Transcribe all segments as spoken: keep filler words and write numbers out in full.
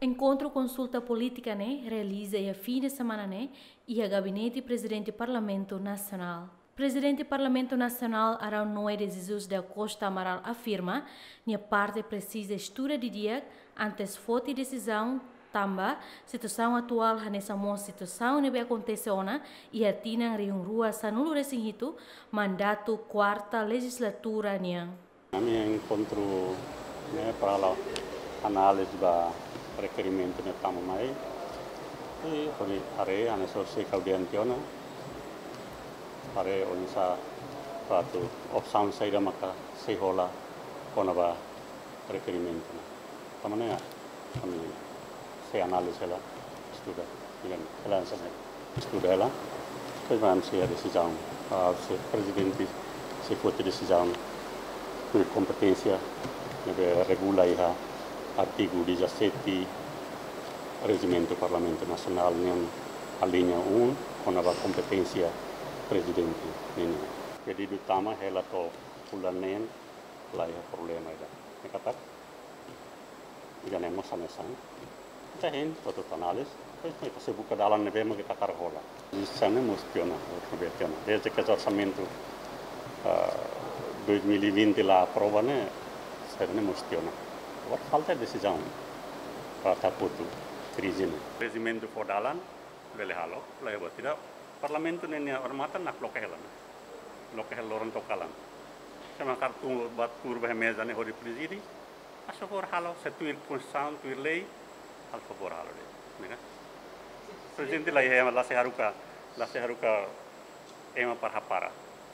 Enkontru konsulta polítika ne'e realiza iha fin de semana ne'e iha Gabinete Prezidente Parlamentu Nasionál. Prezidente Parlamentu Nasionál Arão Noé de Jesus da Costa Amaral afirma, nia parte presiza estuda didi'ak antes foti desizaun, tanba situasaun atuál hanesan mós situasaun ne'ebé akontese ona iha tinan rihun rua sanulu-resin-hitu, mandatu kuarta lejizlatura nian. Ami enkontru ne'e para halo análize ba rekerimentu ne'e tama mai. I hodi haree hanesan ohin sei ha'u dehan tiha ona. Haree oinsá atu opsaun saida maka sei hola kona-ba rekerimentu ne'e. Tanba ne'e, ami sei análize hela, estuda, ikan, hela hanesan ne'e, estuda hela. Depois ami sei iha desizaun, ah, se prezidente sei foti desizaun, ho kompeténsia ne'ebé regula iha artigu dezassete Rejimentu Parlamentu Nasionál nian, aliña um, kona-ba kompeténsia prezidente nian. Pedidu tama hela to'o fulan neen, la iha problema ida. Ne'e katak, ida-ne'e mós hanesan. Ita hein, ita atu análize, depois ita sei buka dalan ne'ebé mak ita hakarak hola. Desizaun ne'e mós tiha ona, ne'ebé tiha ona. Desde ke orsamentu, ah, dois mil e vinte la aprova ne'e, sira-ne'e mós tiha ona. Agora falta desizaun para atu kotu krize ne'e. Rejimentu fó dalan, bele halo, la iha buat ida. Parlamentu ne'e nia odamatan nakloke hela ne'e. Loke hela loron to'o kalan. Se ema hakarak tun, bá tuur ba iha meza ne'e hodi prezide, faz favór halo, se tuir konstituisaun, tuir lei, faz favór halo de'it, ne'e ka? Prezidente la iha, la sei haruka, la sei haruka ema para hapara.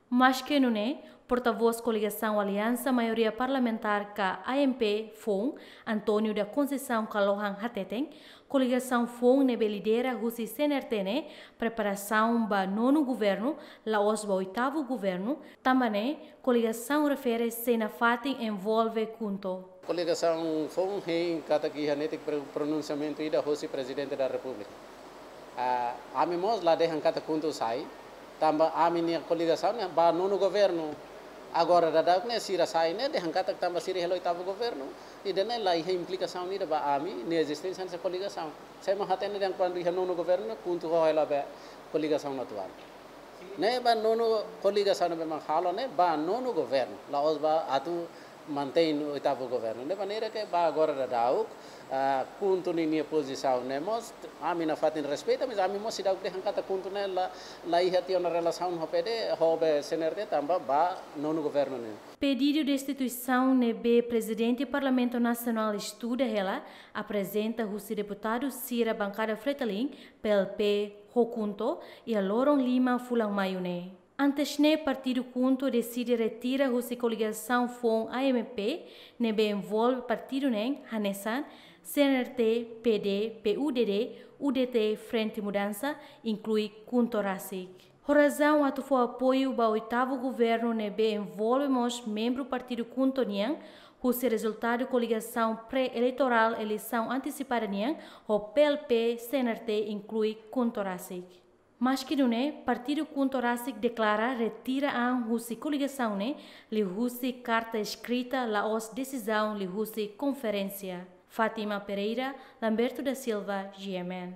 Maske nune'e, portavós koligasaun Aliansa Maioria Parlamentár ka A M P foun, António da Conceição Kalohan hateten, koligasaun foun ne'ebé lidera husi C N R T ne'e preparasaun ba nonu governu, la'ós ba oitavu governu, tanba ne'e koligasaun refere sei nafatin envolve KHUNTO. Koligasaun foun hein katak iha netik pro-, pronunsiamentu ida hosi Prezidente da Repúblika. Ah, ami mós la dehan katak KHUNTO sai, tanba ami-nia koligasaun ne'e ba nonu governu. Agora daudaun ne'e sira sai ne'e dehan katak tanba sira hela oitavu governu. Ida-ne'e la iha implikasaun ida ba ami-nia ezisténsia hanesan koligasaun. Sé mak hatene dehan kuandu iha nonu governu ne'e KHUNTO ho hela ba koligasaun atuál. Ne'e ba nonu koligasaun ne'ebé mak halo ne'e ba nonu governu. La'ós ba atu mantein oitavu governu. Ne'e maneira ke ba agora daudaun, ah, KHUNTO ninia pozisaun ne'e mós ami nafatin respeita, mas ami mós seidauk dehan katak KHUNTO ne'e la, la iha tiha ona relasaun ho P D, ho be C N R T tanba ba nonu governu ne'e. Pedidu destituisaun ne'ebé Prezidente Parlamentu Nasionál estuda hela, aprezenta husi deputadu sira bankada FRETILIN, P L P, ho KHUNTO, iha loron lima fulan Maiu ne'e. Antes ne'e partidu KHUNTO deside retira husi koligasaun foun A M P, ne'ebé envolve partidu neen hanesan C N R T, P D, P U D D, U D T, Frente Mudança, inklui KHUNTO rasik. Ho razaun atu fó apoiu ba oitavu governu ne'ebé envolve mós membru partidu KHUNTO nian, husi rezultadu koligasaun pré-eleitorál eleisaun antesipada nian, ho P L P, C N R T inklui KHUNTO rasik. Maske nune'e, partidu KHUNTO rasik deklara retira an husi koligasaun ne'e, liuhusi karta eskrita la'ós desizaun liuhusi konferénsia. Fátima Pereira, Lamberto da Silva, G M N.